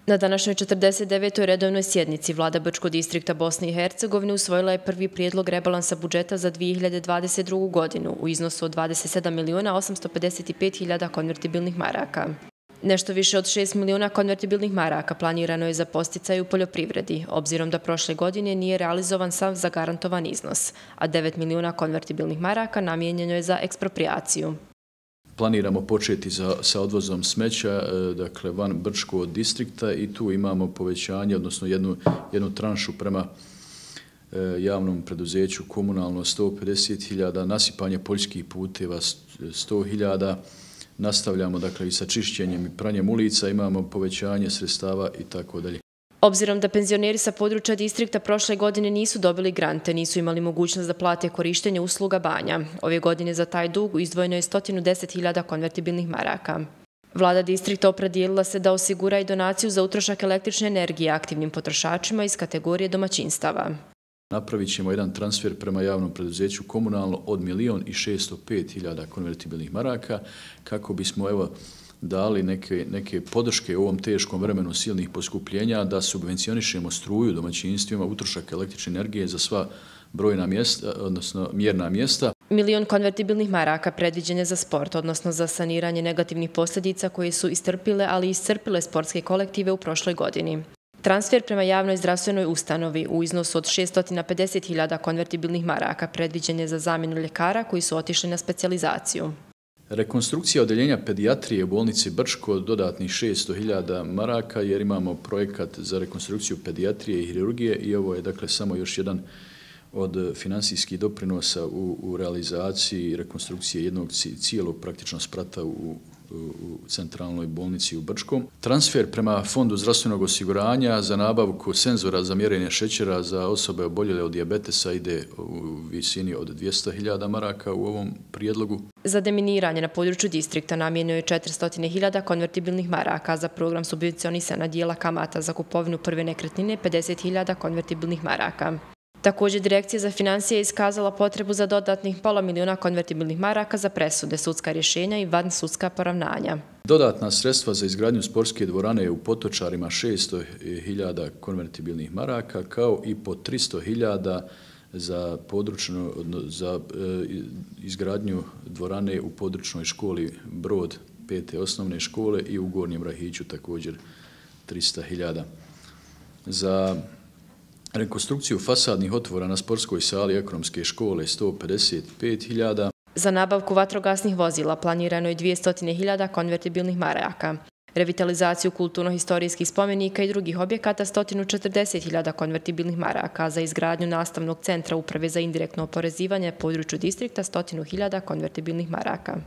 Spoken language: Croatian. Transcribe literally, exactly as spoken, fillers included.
Na današnjoj četrdeset devetoj redovnoj sjednici Vlada Brčkog distrikta Bosne i Hercegovine usvojila je prvi prijedlog rebalansa budžeta za dvije hiljade dvadeset drugu. godinu u iznosu od dvadeset sedam miliona osamsto pedeset pet hiljada konvertibilnih maraka. Nešto više od šest miliona konvertibilnih maraka planirano je za podsticaj u poljoprivredi, obzirom da prošle godine nije realizovan sav zagarantovan iznos, a devet miliona konvertibilnih maraka namijenjeno je za eksproprijaciju. Planiramo početi za, sa odvozom smeća, dakle van Brčkog distrikta, i tu imamo povećanje, odnosno jednu, jednu tranšu prema e, javnom preduzeću komunalno sto pedeset hiljada, nasipanje poljskih puteva sto hiljada, nastavljamo dakle i sa čišćenjem i pranjem ulica, imamo povećanje sredstava i tako dalje. Obzirom da penzioneri sa područja distrikta prošle godine nisu dobili grante, nisu imali mogućnost da plate korištenje usluga banja. Ove godine za taj dug izdvojeno je sto deset hiljada konvertibilnih maraka. Vlada distrikta opredijelila se da osigura i donaciju za utrošak električne energije aktivnim potrošačima iz kategorije domaćinstava. Napravit ćemo jedan transfer prema javnom preduzeću komunalno od milion i šesto pet hiljada konvertibilnih maraka kako bismo evo dali neke, neke podrške u ovom teškom vremenu silnih poskupljenja, da subvencionišemo struju domaćinstvima, utrošak električne energije za sva brojna mjesta, odnosno mjerna mjesta. Milion konvertibilnih maraka predviđen je za sport, odnosno za saniranje negativnih posljedica koje su istrpile, ali i iscrpile sportske kolektive u prošloj godini. Transfer prema javnoj zdravstvenoj ustanovi u iznosu od šesto pedeset hiljada konvertibilnih maraka predviđen je za zamjenu ljekara koji su otišli na specijalizaciju. Rekonstrukcija odeljenja pedijatrije u bolnici Brčko dodatnih šesto hiljada maraka, jer imamo projekat za rekonstrukciju pedijatrije i hirurgije i ovo je dakle samo još jedan od finansijskih doprinosa u, u realizaciji rekonstrukcije jednog cijelog praktično sprata u u centralnoj bolnici u Brčkom. Transfer prema Fondu zdravstvenog osiguranja za nabavku senzora za mjerenje šećera za osobe oboljele od dijabetesa ide u visini od dvjesto hiljada maraka u ovom prijedlogu. Za deminiranje na području distrikta namijenjeno je četiristo hiljada konvertibilnih maraka, za program subvencionisanja dijela kamata za kupovinu prve nekretnine pedeset hiljada konvertibilnih maraka. Također, Direkcija za financije je iskazala potrebu za dodatnih pola miliona konvertibilnih maraka za presude, sudska rješenja i vansudska poravnanja. Dodatna sredstva za izgradnju sportske dvorane u Potočarima šesto hiljada konvertibilnih maraka, kao i po tristo hiljada za područno, za izgradnju dvorane u područnoj školi Brod pete osnovne škole i u Gornjem Rahiću također tristo hiljada. Za rekonstrukciju fasadnih otvora na sportskoj sali ekonomske škole sto pedeset pet hiljada. Za nabavku vatrogasnih vozila planirano je dvjesto hiljada konvertibilnih maraka. Revitalizaciju kulturno-historijskih spomenika i drugih objekata sto četrdeset hiljada konvertibilnih maraka. Za izgradnju nastavnog centra Uprave za indirektno oporezivanje području distrikta sto hiljada konvertibilnih maraka.